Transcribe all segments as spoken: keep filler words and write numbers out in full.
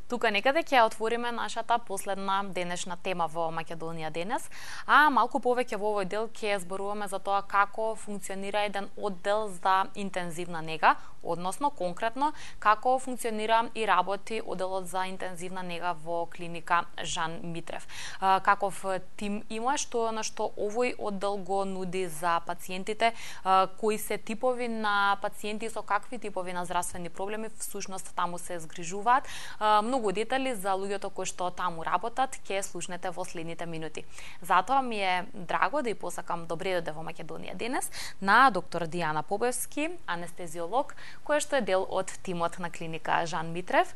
Тука некаде ќе отвориме нашата последна денешна тема во Македонија денес, а малку повеќе во овој дел ќе зборуваме за тоа како функционира еден оддел за интензивна нега, односно конкретно како функционира и работи одделот за интензивна нега во клиника Жан Митрев. Каков тим има, што на што овој оддел го нуди за пациентите, кои се типови на пациенти со какви типови на здравствени проблеми всушност таму се згрижуваат. Многу детали за луѓето кои што таму работат ќе слушнете во следните минути. Затоа ми е драго да ја посакам добре дојде во Македонија денес на доктор Дијана Побевски, анестезиолог, која што е дел од тимот на клиника Жан Митрев.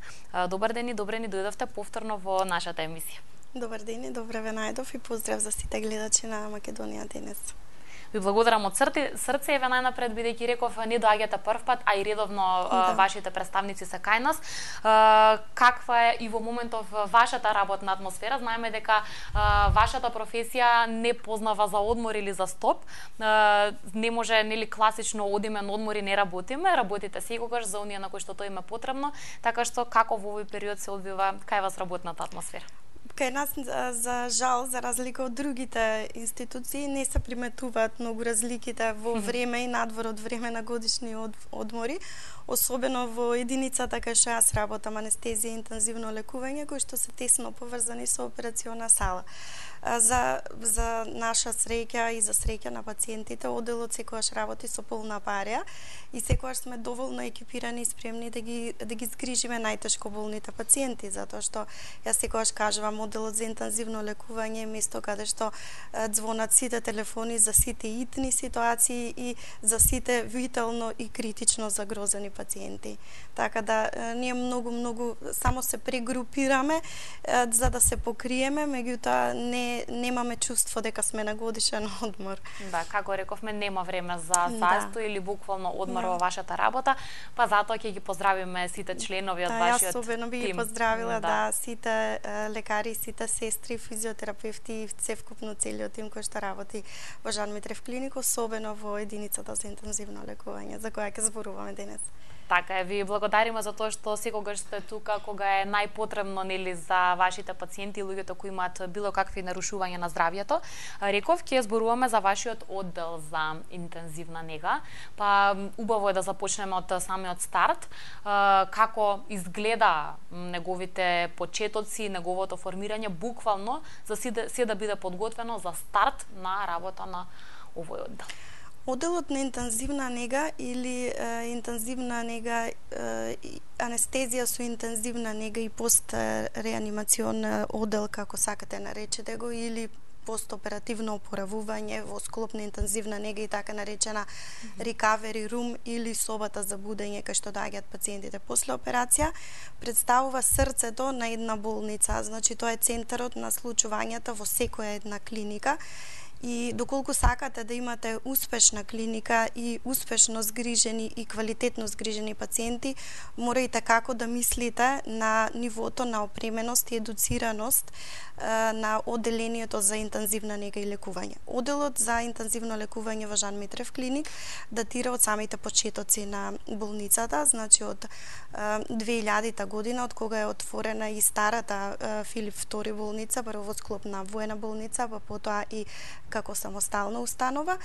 Добар ден и добре ни дојдовте повторно во нашата емисија. Добар ден и добре ве најдов и поздрав за сите гледачи на Македонија денес. Ви благодарам од срце, еве најнапред, бидејќи реков не доаѓате прв пат, а и редовно да. Вашите представници се кај нас. Каква е и во моментов вашата работна атмосфера? Знаеме дека вашата професија не познава за одмор или за стоп. Не може нели класично одиме на одмор и не работиме, работите секогаш за оние на кои што тоа им е потребно, така што како во овој период се одвива кај вас работната атмосфера? Кај нас, за жал, за разлика од другите институции, не се приметуваат многу разликите во време и надвор од време на годишни одмори, особено во единицата кај што јас работам, анестезија и интензивно лекување, кои што се тесно поврзани со операциона сала. За, за наша среќа и за среќа на пациентите, одделот секогаш работи со полна пареја и секогаш сме доволно екипирани и спремни да ги, да ги згрижиме најтешко болните пациенти, затоа што јас секогаш кажувам, одделот за интензивно лекување е место каде што звонат сите телефони за сите итни ситуации и за сите витално и критично загрозени пациенти. Така да ние многу многу само се прегрупираме за да се покриеме, меѓутоа не немаме чувство дека сме на годишен одмор. Да, како рековме, нема време за застој да. Или буквално одмор да. Во вашата работа, па затоа ќе ги поздравиме сите членови од да, вашиот тим. Јас особено би ги поздравила да, да сите лекари, сите сестри, физиотерапевти и цевкупно целиот тим кој што работи во Жан Митрев клиник, особено во единицата за интензивно лекување, за која ќе зборуваме денес. Така е, ви благодариме за тоа што секогаш сте тука кога е најпотребно нели за вашите пациенти и луѓето кои имаат било какви нарушувања на здравјето. Реков, ќе зборуваме за вашиот оддел за интензивна нега. Па убаво е да започнеме од самиот старт. Како изгледа неговите почетоци, неговото формирање буквално за се да биде подготвено за старт на работа на овој оддел. Одделот на интензивна нега или е, интензивна нега, е, анестезија со интензивна нега и постреанимацион оддел, како сакате наречете го, или постоперативно опоравување во склоп на интензивна нега и така наречена recovery room или собата за будење кај што доаѓаат пациентите после операција, представува срцето на една болница, значи тоа е центарот на случувањата во секоја една клиника. И доколку сакате да имате успешна клиника и успешно згрижени и квалитетно згрижени пациенти, морајте како да мислите на нивото на опременост и едуцираност на одделението за интензивна нега и лекување. Одделот за интензивно лекување во Жан Митрев клиник датира од самите почетоци на болницата, значи од две илјадита година, од кога е отворена и старата Филип втори болница, прво во склоп на воена болница, па потоа и како самостална установа,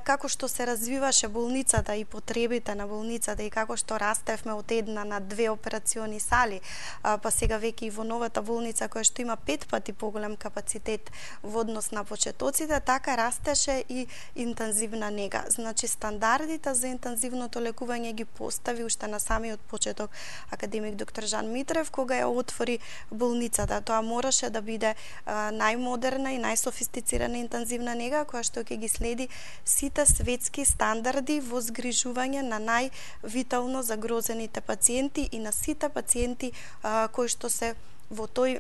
како што се развиваше болницата и потребите на болницата и како што растевме од една на две операциони сали, па сега веќе и во новата болница која што има пет пати поголем капацитет во однос на почетоците, така растеше и интензивна нега. Значи стандардите за интензивното лекување ги постави уште на самиот почеток академик доктор Жан Митрев кога ја отвори болницата. Тоа мораше да биде најмодерна и најсофистицирана интензивна нега која што ќе ги следи сите светски стандарди во згрижување на највитално загрозените пациенти и на сите пациенти а, кои што се во тој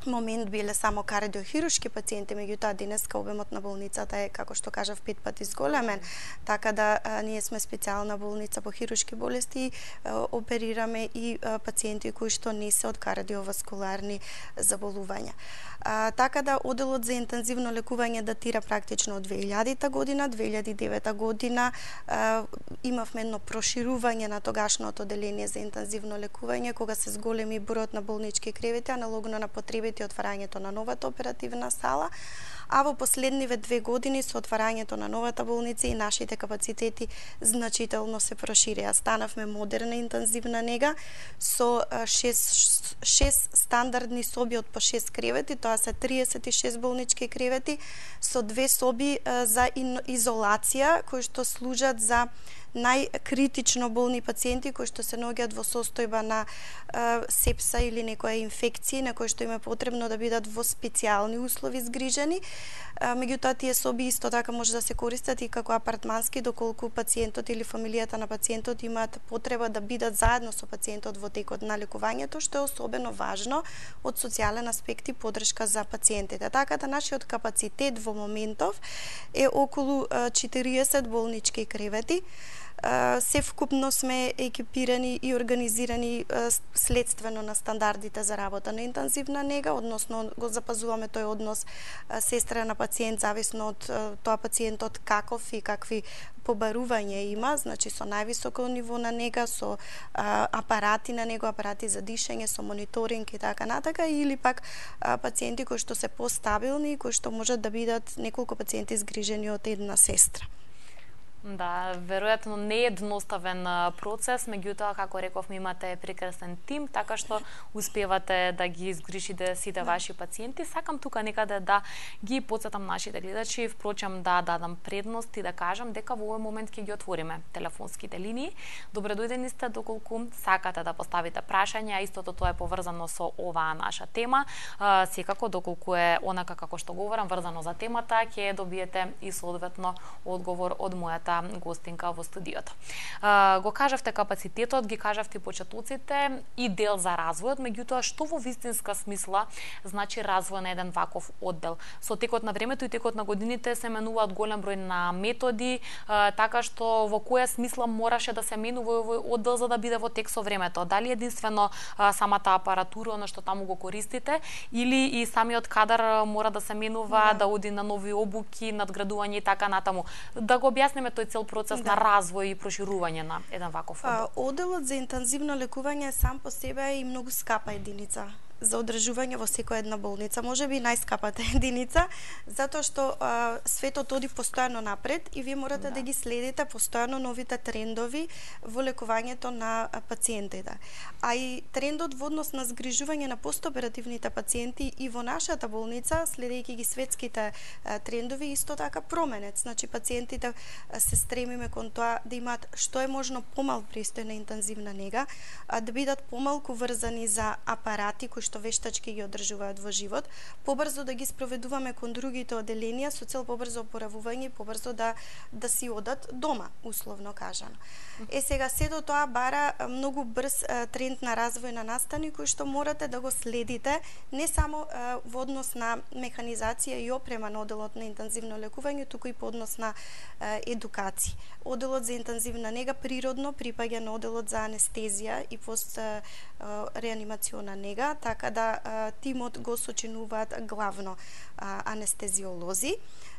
момент биле само кардиохируршки пациенти, меѓутоа денеска обемот на болницата е, како што кажав, пет пати зголемен, така да а, ние сме специјална болница по хируршки болести, а, оперираме и а, пациенти кои што не се од кардиоваскуларни заболувања. А, така да оделот за интензивно лекување датира практично од две илјадета година, две илјади и девета година а, имавме едно проширување на тогашното оделение за интензивно лекување, кога се зголеми бројот на болнички кревети, аналогно на потребите и отварањето на новата оперативна сала, а во последниве две години со отварањето на новата болница и нашите капацитети значително се проширија. Станавме модерна интензивна нега со шест, шест стандардни соби од по шест кревети, тоа се триесет и шест болнички кревети, со две соби за изолација кои што служат за најкритично болни пациенти кои што се наоѓаат во состојба на е, сепса или некоја инфекција на кои што им е потребно да бидат во специјални услови згрижени. Е, меѓутоа тие соби исто така може да се користат и како апартмански доколку пациентот или фамилијата на пациентот имаат потреба да бидат заедно со пациентот во текот на лекувањето, што е особено важно од социјален аспект и подршка за пациентите. Така да нашиот капацитет во моментов е околу четириесет болнички кревети. Севкупно сме екипирани и организирани следствено на стандардите за работа на интензивна нега, односно го запазуваме тој однос сестра на пациент зависно од тоа пациентот каков и какви побарување има, значи со највисоко ниво на нега, со а, апарати на него, апарати за дишење, со мониторинг и така натака, или пак а, пациенти кои што се постабилни, кои што можат да бидат неколку пациенти згрижени од една сестра. Да, веројатно не е едноставен процес, меѓутоа, како рековме, имате прекрасен тим, така што успевате да ги изгрижите сите да. ваши пациенти. Сакам тука некаде да ги потсетам нашите гледачи, впрочем да дадам предност и да кажам дека во овој момент ќе ги отвориме телефонските линии. Добре дојдени сте доколку сакате да поставите прашања, истото тоа е поврзано со оваа наша тема. Секако доколку е онака како што говорам врзано за темата, ќе добиете и соодветно одговор од мојата гостинка во студиото. Го кажавте капацитетот, ги кажавте почетоците и дел за развојот, меѓутоа што во вистинска смисла значи развој на еден ваков оддел? Со текот на времето и текот на годините се менуваат голем број на методи, така што во која смисла мораше да се менува овој оддел за да биде во тек со времето? Дали единствено самата апаратура, она што таму го користите, или и самиот кадар мора да се менува, да, да оди на нови обуки, надградување и така натаму? Да го објасниме тој цел процес да. на развој и проширување на еден ваков оддел. Оделот за интензивно лекување сам по себе е и многу скапа единица за одржување во секоја една болница, може би најскапата единица, затоа што а, светот оди постојано напред и вие морате да. да ги следите постојано новите трендови во лекувањето на пациентите. А и трендот во однос на згрижување на постоперативните пациенти и во нашата болница, следејќи ги светските а, трендови, исто така променет. Значи пациентите а, се стремиме кон тоа да имаат што е можно помал пристој на интензивна нега, а да бидат помалку врзани за апарати кои што вештачки ги одржуваат во живот, побрзо да ги спроведуваме кон другите оделенија со цел побрзо опоравување и побрзо да да си одат дома, условно кажано. Е сега сето тоа бара многу брз тренд на развој на настани кој што морате да го следите не само во однос на механизација и опрема на оделот на интензивно лекување, туку и по однос на едукација. Оделот за интензивна нега природно припаѓа на оделот за анестезија и пост реанимациона нега, така да а, тимот го сочинуваат главно а, анестезиолози.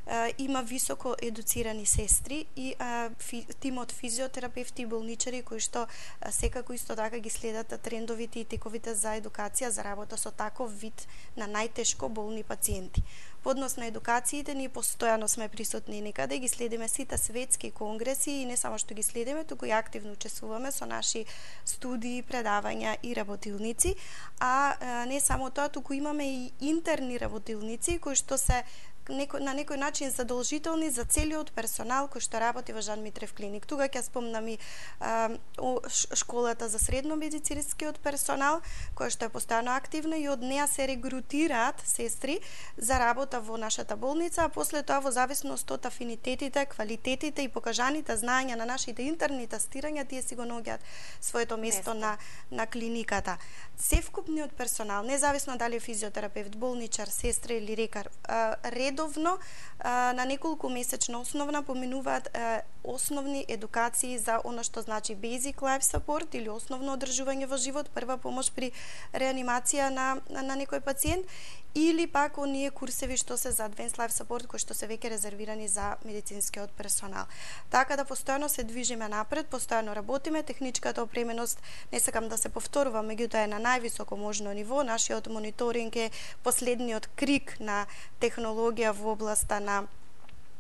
А, има високо едуцирани сестри и а, фи, тимот физиотерапевти и болничари кои што а, секако исто така ги следат трендовите и тековите за едукација за работа со таков вид на најтешко болни пациенти. По однос на едукациите, ние постојано сме присутни некаде, ги следиме сите светски конгреси и не само што ги следиме, туку и активно учествуваме со наши студии, предавања и работилници, а не само тоа, туку имаме и интерни работилници кои што се некој, на некој начин задолжителни за целиот персонал кој што работи во Жан Митрев клиник. Тука ќе спомнам и а, школата за средно медицинскиот персонал, која што е постојано активна и од неа се регрутираат сестри за работа во нашата болница, а после тоа во зависност од афинитетите, квалитетите и покажаните знаења на нашите интерни тестирања, тие си го наоѓаат своето место на, на клиниката. Севкупниот персонал, независно дали е физиотерапевт, болничар, сестра или лекар, редовно на неколку месечна основна поминуваат основни едукации за она што значи basic life support или основно одржување во живот, прва помош при реанимација на, на некој пациент, или пак оние курсеви што се за advanced life support кои што се веќе резервирани за медицинскиот персонал. Така да постојано се движиме напред, постојано работиме, техничката опременост, не сакам да се повторувам, меѓутоа е на највисоко можно ниво. Нашиот мониторинг е последниот крик на технологија во областа на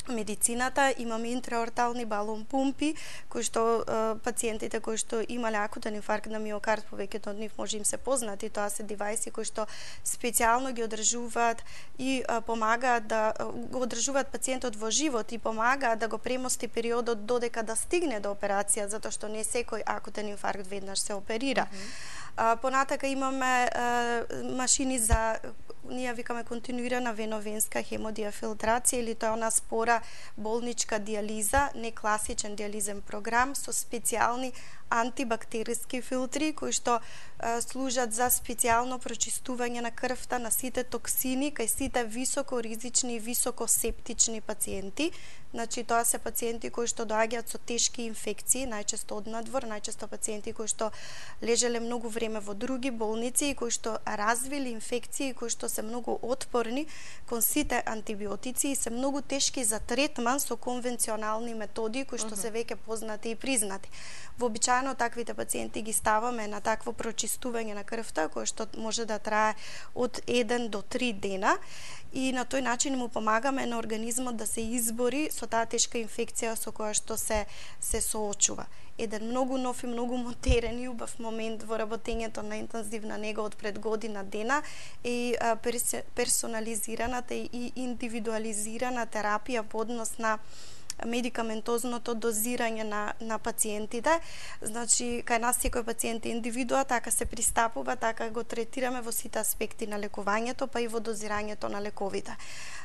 медицината. Имаме интраортални балон пумпи, кои што е, пациентите кои што имале акутен инфаркт на миокард, повеќето од нив може им се познати, тоа се девајси кои што специјално ги одржуваат и е, помагаат да го одржуваат пациентот во живот и помагаат да го премости периодот додека да стигне до операција, затоа што не секој акутен инфаркт веднаш се оперира. Mm-hmm. А, понатака имаме а, машини за, ние викаме континуирана веновенска хемодиафилтрација, или тоа е она спора болничка диализа, не класичен диализен програм со специјални антибактериски филтри кои што а, служат за специјално прочистување на крвта на сите токсини кај сите високо ризични и високо септични пациенти. Значи тоа се пациенти кои што доаѓаат со тешки инфекции, најчесто од надвор, најчесто пациенти кои што лежеле многу време во други болници и кои што развили инфекции кои што се многу отпорни кон сите антибиотици и се многу тешки за третман со конвенционални методи кои што се веќе познати и признати. Вообичаено таквите пациенти ги ставаме на такво прочистување на крвта кое што може да трае од еден до три дена и на тој начин му помагаме на организмот да се избори со таа тешка инфекција со која што се се соочува. Еден многу нов и многу модерен и убав момент во работењето на интензивна нега од пред година дена и персонализираната и индивидуализирана терапија по однос на медикаментозното дозирање на, на пациентите. Значи, кај нас секој пациент е индивидуа, така се пристапува, така го третираме во сите аспекти на лекувањето, па и во дозирањето на лековите.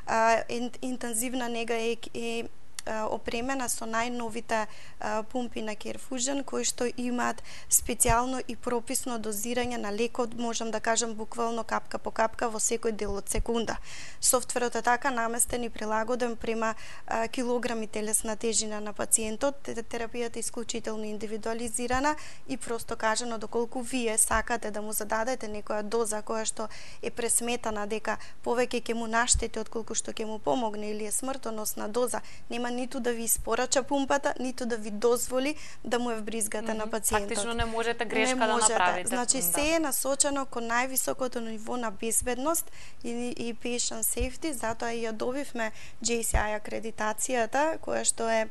А, интензивна нега е, е опремена со најновите а, пумпи на Керфужен, кои што имаат специјално и прописно дозирање на лекот, можам да кажам буквално капка по капка во секој дел од секунда. Софтверот е така наместен и прилагоден према а, килограми телесна тежина на пациентот. Терапијата е исклучително индивидуализирана и просто кажано доколку вие сакате да му зададете некоја доза која што е пресметана дека повеќе ќе му наштети отколку што ќе му помогне или е смртоносна доза, нема ниту да ви испорача пумпата, ниту да ви дозволи да му е вбризгате mm-hmm. на пациентот. Фактично не можете грешка не да можете. направите. Значи, да. се е насочено кон највисокото ниво на безбедност и, и patient safety, затоа и ја добивме J C I акредитацијата, која што е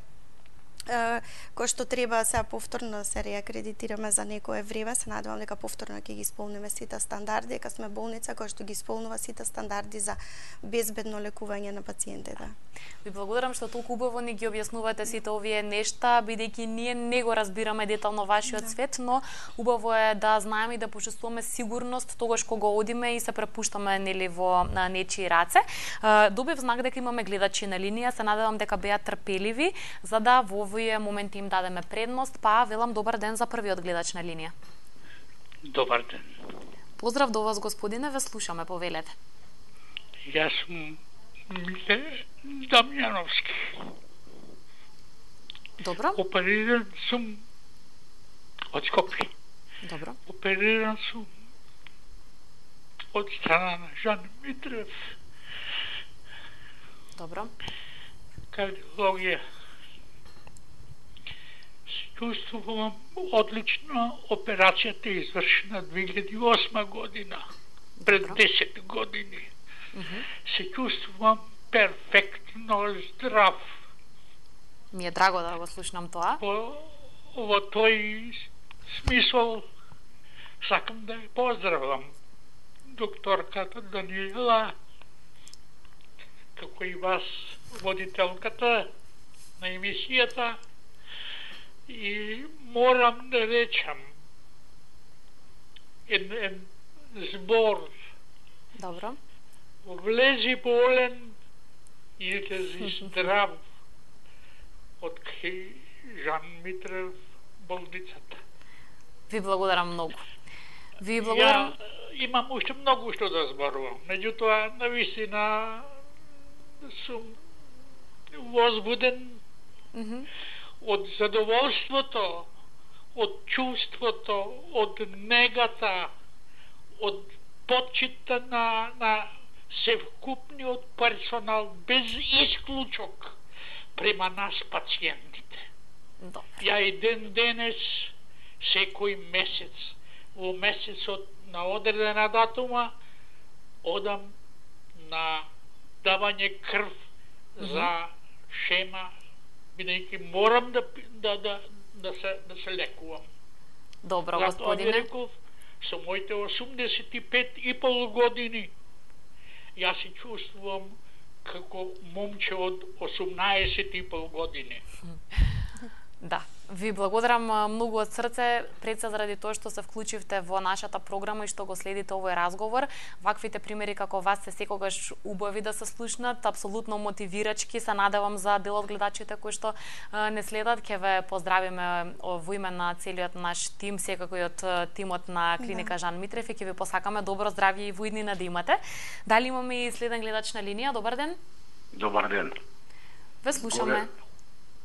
кој што треба сега повторно се реакредитираме за некое време. Се надевам дека повторно ќе ги исполниме сите стандарди, дека сме болница која што ги исполнува сите стандарди за безбедно лекување на пациентите. Ви благодарам што толку убаво ни ги објаснувате сите овие нешта, бидејќи ние не го разбираме детално вашиот да. свет, но убаво е да знаеме и да почувствуваме сигурност тогаш кога одиме и се препуштаме нели во на нечии раце. Добив знак дека имаме гледачи на линија, се надевам дека беа трпеливи за да во овие моменти им дадеме предност, па велам добар ден за првиот гледач на линија. Добар ден. Поздрав до вас, господине, ве слушаме, повелете. Јас сум Миле Дамјановски. Добро. Опериран сум од Скопје. Добро. Опериран сум од страна на Жан Митрев. Добро. Кардиологија. Чувствувам одлично, операцијата е извршена две илјади и осма година, пред десет години. Mm-hmm. Се чувствувам перфектно здрав. Ми е драго да го слушнам тоа. Во, во тој смисол сакам да ја поздравам докторката Даниела како и вас, водителката на емисијата, и морам да речам ед, ед збор. Добро. Влези болен и излези здрав од кај Жан Митрев болницата. Ви благодарам многу. Ви благодарам. Ја имам уште многу што да зборувам. Меѓутоа, навистина сум возбуден Mm -hmm. од задоволството, од чувството, од негата, од почита на, на севкупниот персонал без исклучок према нас пациентите. Добре. Ја и ден денес, секој месец, во месецот на одредена датума, одам на давање крв mm -hmm. за шема, бидејќи морам да, да, да, да, се, да се лекувам. Добро, Затоа господине. ви реков, со моите осумдесет и пет и пол години, јас се чувствувам како момче од осумнаесет и пол години. Да, ви благодарам многу од срце, пред се заради тоа што се вклучивте во нашата програма и што го следите овој разговор. Ваквите примери како вас се секогаш убави да се слушнат, апсолутно мотивирачки. Се надевам за дел од гледачите кои што а, не следат. Ќе ве поздравиме во име на целиот наш тим, секако и од тимот на клиника да. Жан Митрев, и ќе ви посакаме добро здравје и во иднина да имате. Дали имаме и следен гледач на линија? Добар ден. Добар ден. Ве слушаме. Голем,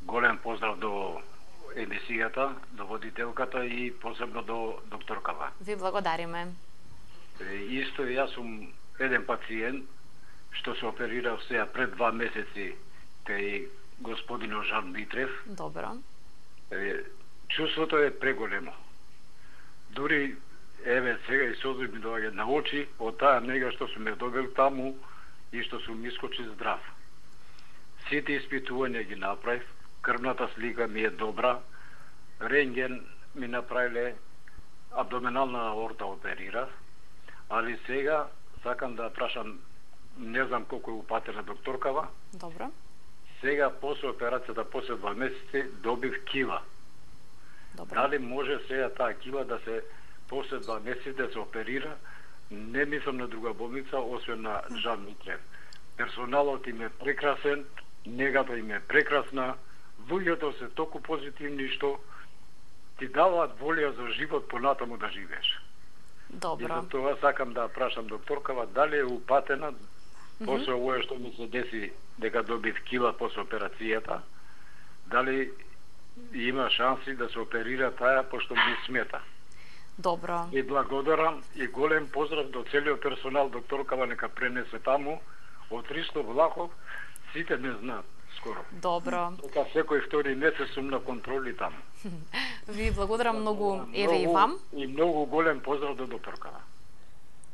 голем поздрав до емисијата, до водителката и посебно до докторкава. Ви благодариме. Исто јас сум еден пациент што се оперирав сега пред два месеци кај господинот Жан Митрев. Добро. Чувството е преголемо. Дури еве сега и созби ми доаѓа на очи од таа нега што сум ме добил таму и што сум искочи здрав. Сите испитувања ги направив, крвната слика ми е добра, рентген ми направиле, абдоминална аорта оперирав, али сега сакам да прашам, не знам колку е упатена докторкава. Добро. Сега после операцијата, после два месеци, добив кила. Добро. Дали може сега таа кила да се после два месеци да се оперира? Не мислам на друга болница, освен на Жан Митрев. Персоналот им е прекрасен, негата им е прекрасна, луѓето се толку позитивни што ти даваат волја за живот понатаму да живееш. Добро. И за тоа сакам да прашам докторкава дали е упатена mm -hmm. после овој што ми се деси дека добив кила после операцијата, дали има шанси да се оперира таа пошто ми смета. Добро. И благодарам и голем поздрав до целиот персонал, докторкава нека пренесе таму од Ристо Влахов, сите не знаат скоро. Добро. Дека секој втори месец сум на контроли таму. Ви благодарам многу, еве многу, и вам. И многу голем поздрав до докторкава.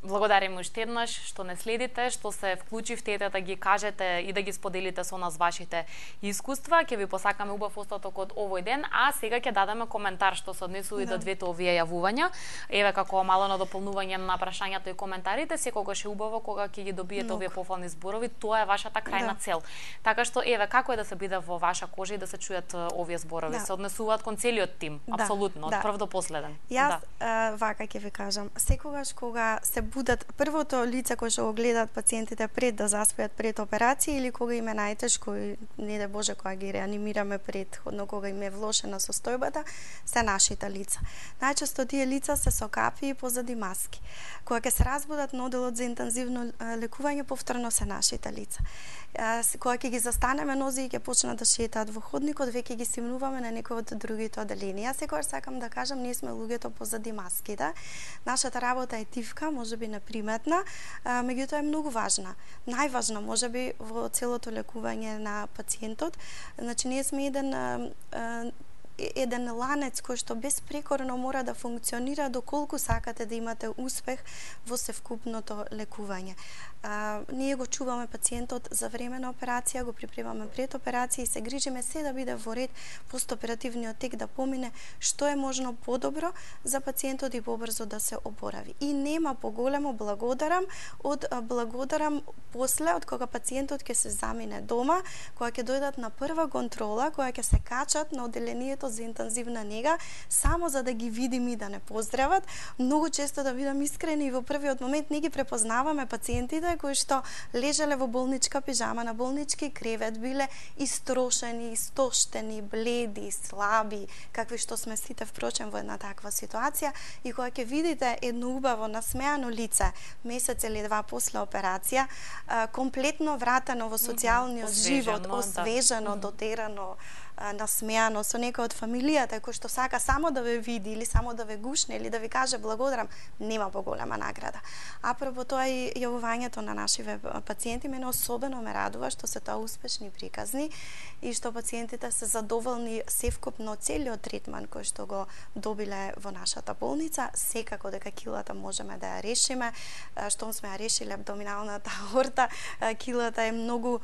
Благодарим уште еднаш што не следите, што се вклучивте да ги кажете и да ги споделите со нас вашите искуства. Ќе ви посакаме убав остаток од овој ден, а сега ќе дадеме коментар што се однесува да. до двете овие јавувања. Еве како мало на дополнување на прашањата и коментарите, секогаш е убаво кога ќе ги добиете Много. овие пофални зборови, тоа е вашата крајна да. цел. Така што еве како е да се биде во ваша кожа и да се чујат овие зборови, да. се однесуваат кон целиот тим, да. апсолутно, од да. прв до последен. Јас да. а, вака ќе ви кажам, секогаш кога се будат првото лице кој што го гледаат пациентите пред да заспиат пред операција или кога им е најтешко и не де Боже кога ги реанимираме предходно кога им е влошена состојбата, се нашите лица. Најчесто тие лица се со капи и позади маски. Кога ќе се разбудат на оделот за интензивно лекување, повторно се нашите лица. Кога ќе ги застанеме нози и ќе почнат да шетаат во ходникот, веќе ги симнуваме на некој од другите оделенија. Секогаш сакам да кажам, ние сме луѓето позади маските. Нашата работа е тивка, можеби неприметна, меѓутоа е многу важна. Најважна можеби во целото лекување на пациентот. Значи ние сме еден еден ланец кој што безпрекорно мора да функционира доколку сакате да имате успех во севкупното лекување. А, ние го чуваме пациентот за време на операција, го припремаме пред операција и се грижиме се да биде во ред постоперативниот тек да помине што е можно подобро за пациентот и побрзо да се опорави. И нема поголемо благодарам од благодарам после од кога пациентот ќе се замине дома, кога ќе дојдат на прва контрола, кога ќе се качат на одделението за интензивна нега, само за да ги видим и да не поздрават. Многу често, да бидам искрени, и во првиот момент не ги препознаваме пациентите кои што лежеле во болничка пижама, на болнички кревет, биле истрошени, истоштени, бледи, слаби, какви што сме сите впрочем во една таква ситуација, и кога ќе видите едно убаво насмеано лице месец или два после операција, комплетно вратено во социјалниот живот, освежено, да. дотерано, насмеано со некој од фамилијата кој што сака само да ве види или само да ве гушне или да ви каже благодарам, нема поголема награда. Апропо тоа и јавувањето на нашиве пациенти мене особено ме радува што се тоа успешни приказни и што пациентите се задоволни севкупно целиот третман кој што го добиле во нашата болница. Секако дека килата можеме да ја решиме, штом сме ја решиле абдоминалната аорта, килата е многу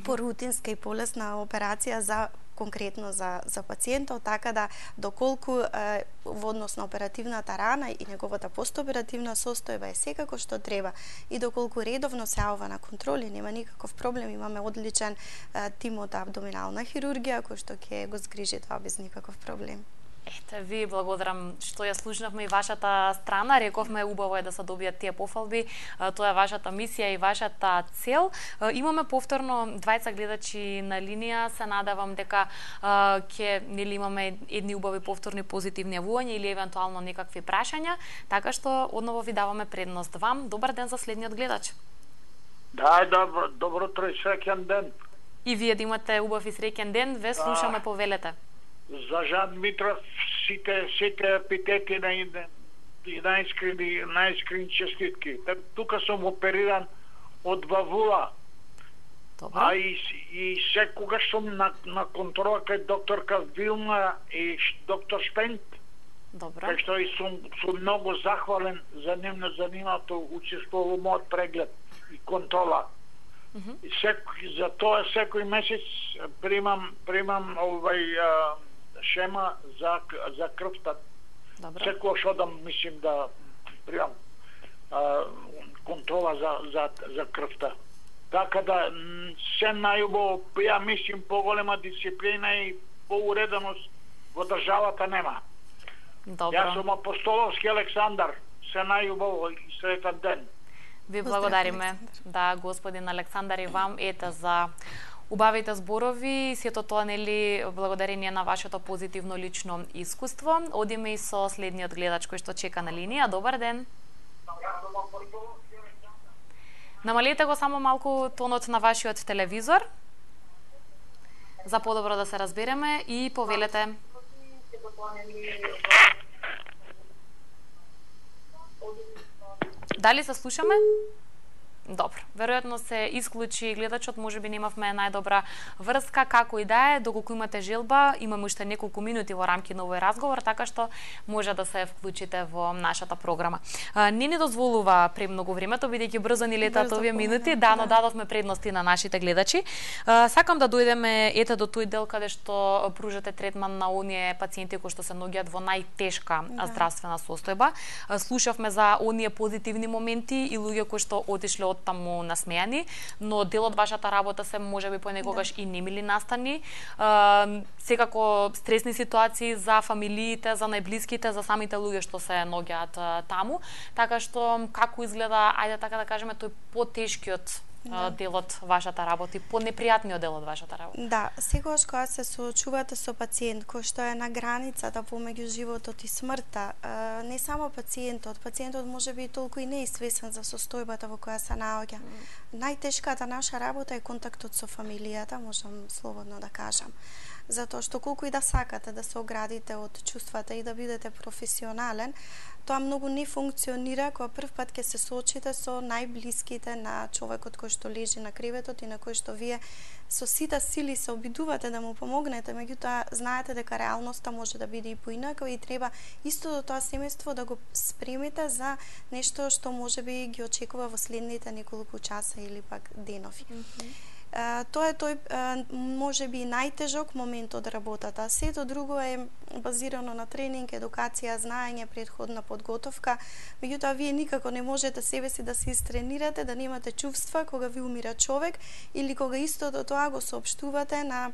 порутинска и полесна операција за конкретно за за пациентот, така да доколку е, во однос на оперативната рана и неговата постоперативна состојба е секако што треба и доколку редовно се јавува на контроли, нема никаков проблем, имаме одличен е, тим од абдоминална хирургија кој што ќе го згрижи тоа без никаков проблем. Ете, ви благодарам што ја слушнавме и вашата страна. Рековме, убаво е да се добијат тие пофалби. Тоа е вашата мисија и вашата цел. Имаме повторно двајца гледачи на линија. Се надевам дека ќе нели имаме едни убави повторни позитивни јавувања или евентуално некакви прашања, така што одново ви даваме предност вам. Добар ден за следниот гледач. Да, добро, добро утро и среќен ден. И вие да имате убав и среќен ден. Ве слушаме, повелете. За Жан Дмитров сите сите епитети на и најискрени најискрени честитки. Тука сум опериран од вавула. Добро. А и, и секогаш сум на, на контрола кај докторка Вилна и доктор Шпент. Добро. Кај што и сум, сум многу захвален за нивно занимато учествувал во мојот преглед и контрола. Mm -hmm. И сек, за тоа секој месец примам примам овај а, шема за за крвта. Добро. Секогаш одам, мислим да примам а, контрола за за за крвта. Така да се најубаво, ја мислим, поголема дисциплина и поуреденост во државата нема. Добро. Јас сум Апостоловски Александар. Се најубаво и сретен ден. Ви благодариме, да, господин Александар, и вам, ете, за убавите зборови, сето тоа, нели, благодарение на вашето позитивно лично искуство. Одиме и со следниот гледач кој што чека на линија. Добар ден. Намалете го само малку тонот на вашиот телевизор, за подобро да се разбереме, и повелете. Дали се слушаме? Добро. Веројатно се исклучи гледачот, можеби немавме најдобра врска, како и да е, доколку имате желба, имаме уште неколку минути во рамки на овој разговор, така што може да се вклучите во нашата програма. Не ни дозволува премногу времето, бидејќи брзо ни летат овие минути, да, но дадовме предности на нашите гледачи. Сакам да дојдеме ете до тој дел каде што пружате третман на оние пациенти кои што се наоѓаат во најтешка да. здравствена состојба. Слушавме за оние позитивни моменти и луѓе кои што отишле од таму насмејани, но дел од вашата работа се можеби понекогаш да. и немили настани. Е, секако стресни ситуации за фамилиите, за најблиските, за самите луѓе што се наоѓаат таму. Така што како изгледа, ајде така да кажеме, тој потешкиот да. дел од вашата работа и понепријатниот дел од вашата работа? Да, секогаш кога се соочувате со пациент кој што е на границата помеѓу животот и смртта, не само пациентот, пациентот може би толку и не е свесен за состојбата во која се наоѓа. Mm. Најтешката наша работа е контактот со фамилијата, можам слободно да кажам. Затоа што колку и да сакате да се оградите од чувствата и да бидете професионален, тоа многу не функционира кога прв пат ќе се соочите со најблиските на човекот кој што лежи на креветот и на кој што вие со сите сили се обидувате да му помогнете, меѓутоа знаете дека реалноста може да биде и поинака и треба истото тоа семејство да го спремите за нешто што можеби ги очекува во следните неколку часа или пак денови. Mm -hmm. Uh, тоа е тој uh, можеби најтежок момент од работата. Сето друго е базирано на тренинг, едукација, знаење, претходна подготовка. Меѓутоа вие никако не можете себе си да се истренирате, да немате чувства кога ви умира човек или кога истото тоа го соопштувате на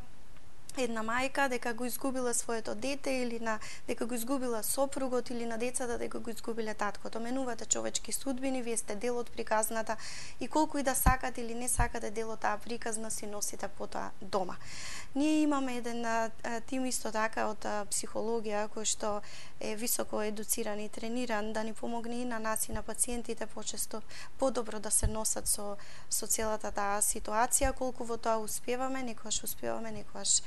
една мајка дека го изгубила своето дете или на дека го изгубила сопругот или на децата дека го изгубиле таткото. Менувате човечки судбини, вие сте дел од приказната и колку и да сакате или не сакате дел од таа приказна си носите потоа дома. Ние имаме еден а, тим исто така од а, психологија кој што е високо едуциран и трениран да ни помогне и на нас и на пациентите почесто подобро да се носат со со целата таа ситуација. Колку во тоа успеваме, некогаш успеваме, некогаш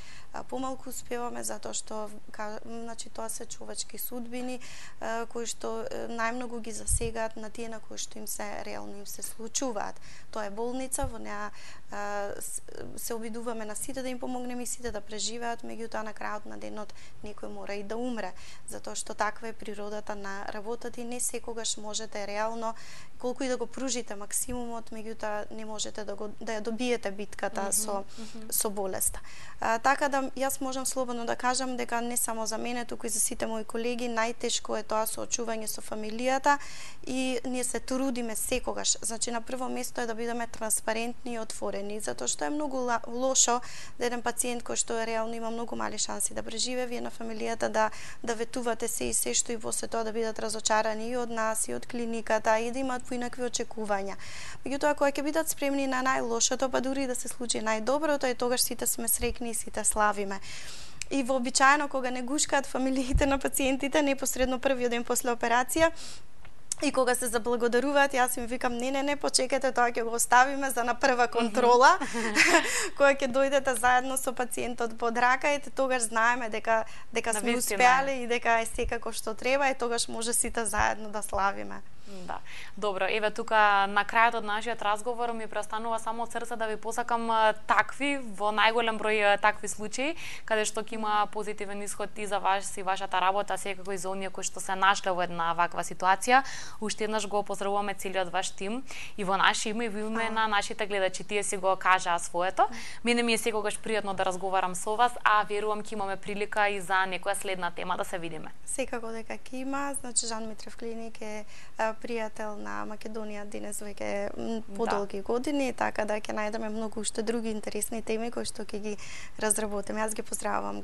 помалку успеваме затоа што ка, значи тоа се човечки судбини а, кои што најмногу ги засегаат на тие на кои што им се реално им се случуваат. Тоа е болница, во неа а, се обидуваме на сите да им помогнеме и сите да преживеат, меѓутоа на крајот на денот некој мора и да умре, затоа што таква е природата на работата и не секогаш можете реално колку и да го пружите максимумот, меѓутоа не можете да го да ја добиете битката mm -hmm, со mm -hmm. со болеста. А, така да јас можам слободно да кажам дека не само за мене, туку и за сите мои колеги најтешко е тоа соочување со фамилијата и ние се трудиме секогаш. Значи на прво место е да бидеме транспарентни и отворени, затоа што е многу лошо да еден пациент кој што реално има многу мали шанси да преживее, вие на фамилијата да да ветувате се и се што и после тоа да бидат разочарани и од нас и од клиниката и да имаат поинакви очекувања. Меѓутоа кога ќе бидат спремни на најлошото, па дури да се случи најдоброто, и тогаш сите сме среќни и сите славиме. И вообичаено кога не гушкаат фамилиите на пациентите непосредно првиот ден после операција, и кога се заблагодаруваат, јас им викам не, не, не, почекате, тоа ќе го оставиме за на прва контрола, кога ќе дојдете заедно со пациентот под рака, и тогаш знаеме дека дека сме успеале и дека е секако што треба, и тогаш може сите заедно да славиме. Да. Добро, еве тука на крајот од нашиот разговор ми престанува само од срце да ви посакам такви во најголем број такви случаи каде што ќе има позитивен исход и за вас и вашата работа, секако и за оние кои што се нашле во една ваква ситуација. Уште еднаш го поздравуваме целиот ваш тим и во наше име и во име на нашите гледачи. Тие си го кажаа своето. Мене ми е секогаш пријатно да разговарам со вас, а верувам ќе имаме прилика и за некоја следна тема да се видиме. Секако дека ќе има, значи Жан Митрев клиник е пријател на Македонија денес веќе подолги да. години, така да ќе најдеме многу уште други интересни теми кои што ќе ги разработиме. Јас ги поздравувам.